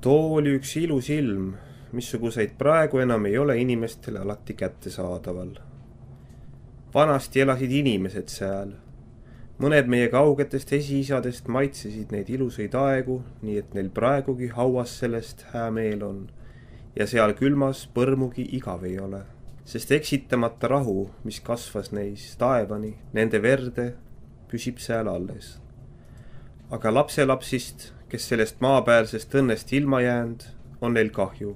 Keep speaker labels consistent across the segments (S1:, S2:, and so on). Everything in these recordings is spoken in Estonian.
S1: Too oli üks ilus ilm, missuguseid praegu enam ei ole inimestele alati kättesaadaval. Vanasti elasid inimesed seal. Mõned meie kaugetest esiisadest maitsesid neid ilusaid aegu, nii et neil praegugi hauas sellest hää meel on. Ja seal külmas põrmugi igav ei ole, sest eksitamata rahu, mis kasvas neis taevani, nende verde, püsib seal alles. Aga lapselapsist, kes sellest maapäärsest õnnest ilma jäänud, on neil kahju.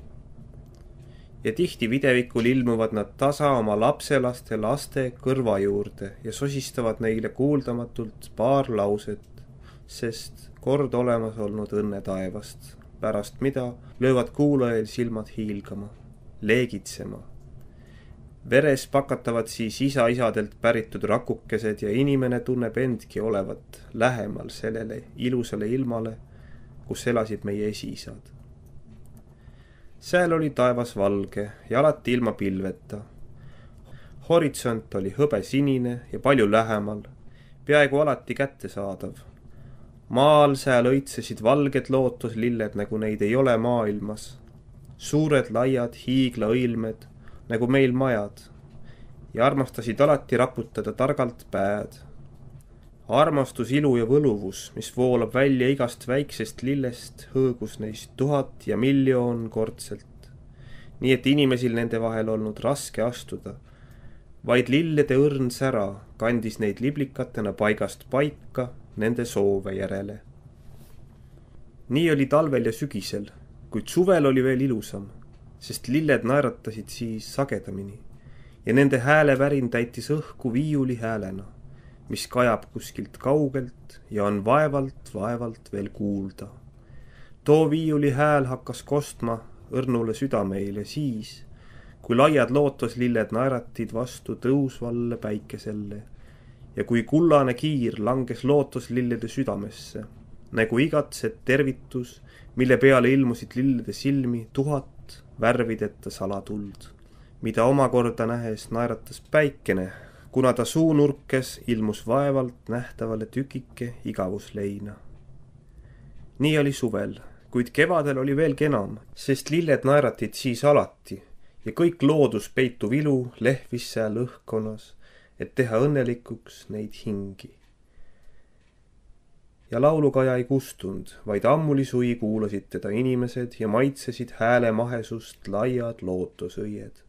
S1: Ja tihti videvikul ilmuvad nad tasa oma lapselaste laste kõrva juurde ja sosistavad neile kuuldamatult paar lauset, sest kord olemas olnud õnne taevast, pärast mida löövad kuulajail silmad hiilgama, leegitsema. Veres pakatavad siis isa-isadelt päritud rakukesed ja inimene tunneb endki olevat lähemal sellele ilusale ilmale, kus elasid meie esiisad. Seal oli taevas valge ja alati ilma pilveta. Horisont oli hõbesinine ja palju lähemal, peaaegu alati kättesaadav. Maal seal õitsesid valged lootuslilled, nagu neid ei ole maailmas. Suured laiad hiiglaõilmed, nagu meil majad, ja armastasid alati raputada targalt pääd. Armastus, ilu ja võluvus, mis voolab välja igast väiksest lillest, hõõgus neist 1000 ja miljoon kordselt. Nii et inimesil nende vahel olnud raske astuda. Vaid lillede õrn sära kandis neid liblikatena paigast paika nende soove järele. Nii oli talvel ja sügisel, kuid suvel oli veel ilusam, sest lilled naeratasid siis sagedamini ja nende häälevärin täitis õhku viiuli häälena, mis kajab kuskilt kaugelt ja on vaevalt veel kuulda. Too viiuli hääl hakkas kostma õrnule südameile siis, kui laiad lootuslilled naeratid vastu tõusvalle päikeselle ja kui kullane kiir langes lootuslillede südamesse, nagu igatset tervitus, mille peale ilmusid lillede silmi 1000 värvideta salatuld, mida omakorda nähes naeratas päikene, kuna ta suunurkes ilmus vaevalt nähtavale tükike igavusleina. Nii oli suvel, kuid kevadel oli veel enam, sest lilled naeratid siis alati ja kõik loodus peituv ilu lehvis seal õhkkonnas, et teha õnnelikuks neid hingi. Ja laulukaja ei kustund, vaid ammuli sui kuulasid teda inimesed ja maitsesid hääle mahesust laiad lootusõied.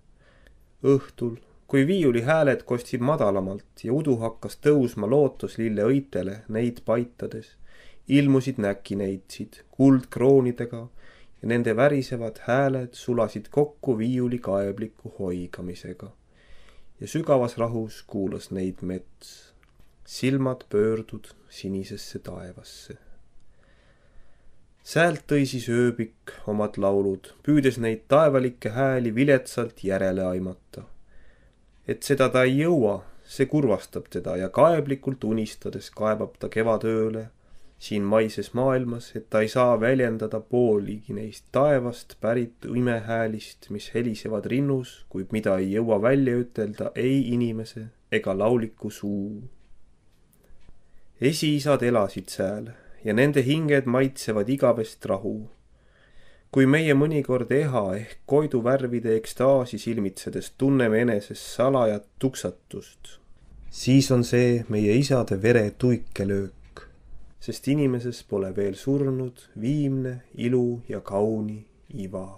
S1: Õhtul, kui viiuli hääled kostsid madalamalt ja udu hakkas tõusma lootuslille õitele neid paitades, ilmusid näkineitsid kuldkroonidega ja nende värisevad hääled sulasid kokku viiuli kaebliku hoigamisega. Ja sügavas rahus kuulas neid mets, silmad pöördud sinisesse taevasse. Säält tõi siis ööbik omad laulud, püüdes neid taevalikke hääli viletsalt järele aimata. Et seda ta ei jõua, see kurvastab teda ja kaeblikult unistades kaebab ta kevadööle siin maises maailmas, et ta ei saa väljendada pooligi neist taevast pärit imehäälist, mis helisevad rinnus, kuid mida ei jõua välja ütelda ei inimese ega lauliku suu. Esiisad elasid seal ja nende hinged maitsevad igavest rahu. Kui meie mõnikord eha ehk koidu värvide ekstaasi silmitsedes tunneme eneses salajat tuksatust, siis on see meie isade vere tuikelöök, sest inimeses pole veel surnud viimne ilu ja kauni iva.